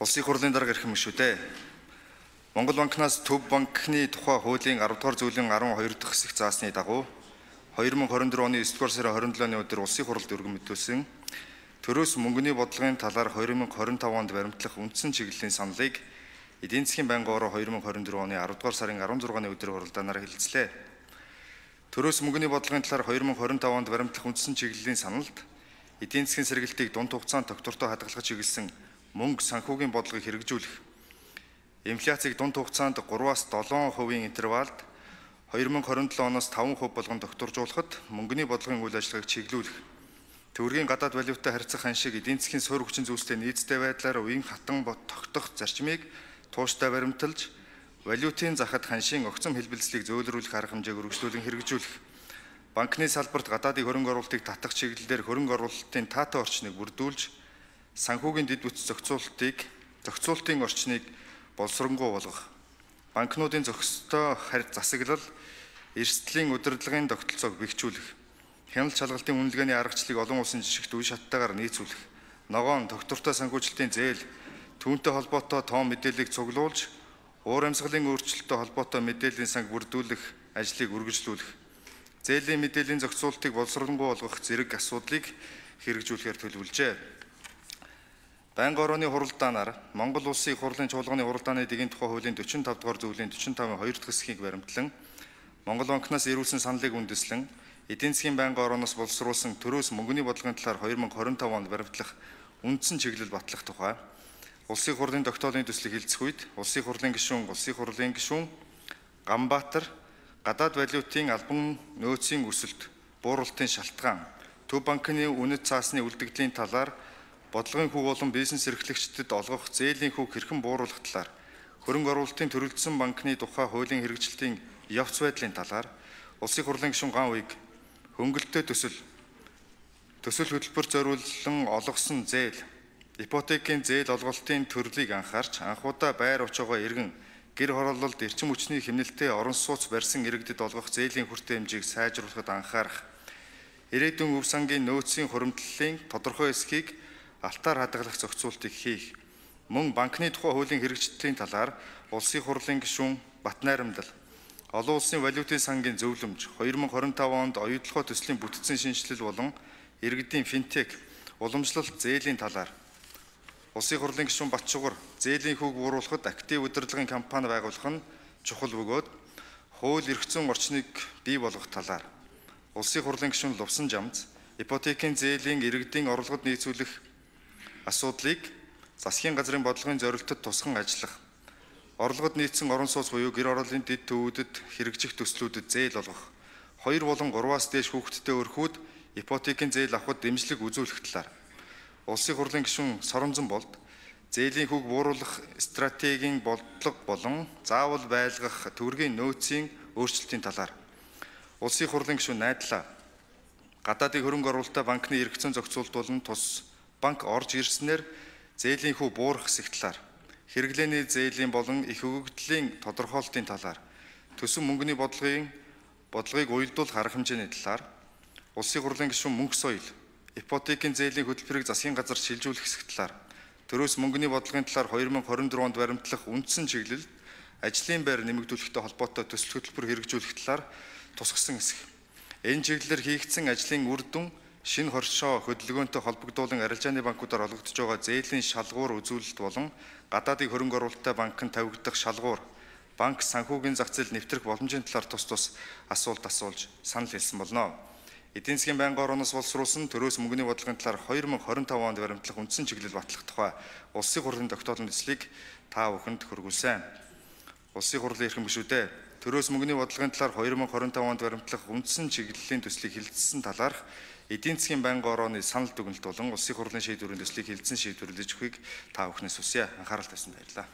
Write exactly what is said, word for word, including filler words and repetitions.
Улсын хурлын дарга ирэх юм шүү дээ. Монгол банкнаас Төв банкны тухай хуулийн арав дугаар зүйлийн арван хоёр дахь хэсэг заасны дагуу хоёр мың хорин дөрөв оны есдүгээр сарын хорин долооны өдөр улсын хуралд өргөн мэдүүлсэн төрөөс мөнгөний бодлогын талаар хоёр мың хорин тавд онд баримтлах үндсэн чиглэлийн саналыг эдийн засгийн байнгын ороо хоёр мың хорин дөрөв оны арав дугаар сарын арван зургааны өдөр хуралдаанаар хэлэлцлээ. Төрөөс мөнгөний бодлогын талаар хоёр мың хорин тавд онд баримтлах үндсэн чиглэлийн саналд эдийн засгийн сэргэлтийг дунд хугацаанд тогтвортой хадгалах чиглэсэн мөнгө санхүүгийн бодлогыг хэрэгжүүлэх, инфляцийг дунд хугацаанд гураваас долоон хувийн интервалд хоёр мың хорин долоо оноос таван хувь болгон докторжуулахад мөнгөний бодлогын үйл ажиллагааг чиглүүлэх, төгрөгийн гадаад валютатай харьцах ханшийг эдийн засгийн суурь хүчин зүйлстэй нийцтэй байдлаар үеийн хатан тогтох зарчмыг тууштай баримталж, валютын захад ханшийн огцом хэлбэлцлийг зөөлрүүлэх арга хэмжээг үргэлжлүүлэн хэрэгжүүлэх, банкны салбарт гадаадын хөрөнгө оруулалтыг татах чиглэлээр хөрөнгө оруулалтын таатай орчныг бүрдүүлж, санхүүгийн дэд бүтц зохицуулалтыг зохицуулалтын орчныг боловсронгуй болгох, банкнуудын зохистой харьц засаглал, эрсдлийн удирдлагын тогтолцоог бэхжүүлэх, хяналт шалгалтын үнэлгээний аргачлалыг олон улсын жишгт үе шаттайгаар нийцүүлэх, ногоон тогтвортой санхүүжилтийн зээл, түүнтэй холбоотой тоон мэдээллийг цуглуулж, уур амьсгалын өөрчлөлттэй холбоотой мэдээллийн санг бүрдүүлэх ажлыг үргэлжлүүлэх, зээлийн мэдээллийн зохицуулалтыг боловсронгуй болгох зэрэг асуудлыг хэрэгжүүлэхээр төлөвлөжээ. Байнгын орооны хуралдаанаар Монгол Улсын их хурлын чуулганы хуралдааны дэгийн тухай хуулийн дөрвөн и тавь дугаар зүйлийн дөрвөн и тавь хоёр дахь хэсгийг баримтлан, Монгол банкнаас ирүүлсэн саналыг үндэслэн, эдийн засгийн байнгын орооноос боловсруулсан төрөөс мөнгөний бодлогын талаар хоёр мың хорин тавд онд баримтлах үндсэн чиглэл батлах тухай Улсын хурлын тогтоолын төслийг хэлцэх үед Улсын хурлын гишүүн, Улсын хурлын гишүүн Ганбаатар гадаад валютын албан нөөцийн өсөлт, бууруулалтын шалтгаан, Төв банкны үнэт цаасны үлдэгдлийн талаар бодлогын хүүг болон бизнес эрхлэгчдэд олгох зээлийн хүүг хэрхэн бууруулах талаар, хөрөнгө оруулалтын төрөлдсөн банкны тухай хуулийн хэрэгжилтийн явц байдлын талаар Улсын хурлын гишүүн Ган Уйг хөнгөлөлтөө төсөл, төсөл хөтөлбөр зориулсан олгосон зээл, ипотекийн зээл олголтын төрлийг анхаарч, анхудаа байр очоогоо эргэн, гэр хороололд эрчим хүчний хэмнэлтэд орон сууц барьсан иргэдэд олгох зээлийн хүртээ хэмжээг сайжруулахад анхаарах, ирээдүйн өв сангийн нөөцийн хуримтлалын тодорхой эсхийг алтаар хадгалах зохицуултыг хийх, мөн банкны тухай хуулийн хэрэгжилтийн талаар Улсын хурлын гишүүн Батнайрамдал, олон улсын валютын сангийн зөвлөмж, хоёр мың хорин тавд онд оюутлогоо төслийн бүтцийн шинжилэл болон иргэдийн финтек, уламжлалт зээлийн талаар Улсын хурлын гишүүн Батчугар зээлийн хүүг бууруулахад актив удирдлагын кампани байгуулах нь чухал бөгөөд хууль эрх зүйн орчныг бий болгох талаар Улсын хурлын гишүүн Лувсан Жамц ипотекийн зээлийн иргэдийн орлогод нийцүүлэх асуудлыг засгийн газрын бодлогын зорилтод тусган ажиллах, орлогод нийцсэн орон сууц буюу гэр ороолын дэд төвүүдэд хэрэгжих төслүүдэд зээл олгох, хоёр болон гураваас дээш хүүхэдтэй өрхүүд ипотекийн зээл авахд дэмжлэг үзүүлэх талаар Улсын хурлын гишүүн Соронзон Болд зээлийн хүүг бууруулах стратегийн бодлого болон заавал байлгах төгрөгийн нөөцийн өөрчлөлтийн талаар Улсын хурлын гишүүн Найдлаа гадаадын хөрөнгө оруулалтаа банкны эрх зүйн зохицуулалт болон тус банк орж ирснээр зээлийн хүү буурах хэсэг талаар, хэрэглээний зээлийн болон их өгөгдлийн тодорхойлолтын талаар, төсөв мөнгөний бодлогын бодлогыг уялдуулах арга хэмжээний талаар, Улсын хурлын гишүүн Мөнх Соёл, ипотекийн зээлийн хөтөлбөрийг засгийн газар шилжүүлэх хэсэг талаар, төрөөс мөнгөний бодлогын талаар хоёр мың хорин дөрөв онд баримтлах үндсэн чиглэлд ажлын байр нэмэгдүүлэхтэй холбоотой төсөл хөтөлбөр хэрэгжүүлэх талаар тусгасан хэсэг. Энэ чиглэлээр хийгдсэн ажлын үр дүн шинэ хоршоо хөдөлгөөнтэй холбогдуулан арилжааны банкудаар олгогдож байгаа зээлийн шалгуур үзүүлэлт болон гадаадын хөрөнгө оруулалттай банкнд тавигдах шалгуур, банк санхүүгийн зах зээл нэвтрэх боломжийн талаар тус тус асуулт асуулж санал хэлсэн болно. Эдийн засгийн байнгын орооноос боловсруулсан төрөөс мөнгөний бодлогын талаар хоёр мың хорин тавд онд баримтлах үндсэн чиглэл батлах тухай Улсын хурлын тогтоолын төслийг та бүхэнд хүргүүлсэн. Улсын хурлын эрхэм гишүүдээ төрөөс мөнгөний бодлогын талаар хоёр мың хорин тавд онд баримтлах үндсэн чиглэлийн төслийг хэлэлцсэн талаарх эдийн засгийн байнгын орооны санал дүгнэлт болон Улсын хурлын шийдвэрийн төслийг хэлэлцэн шийдвэрлэж өгөхийг та бүхнээс хүсье. Анхаарал тавьсанд баярлалаа.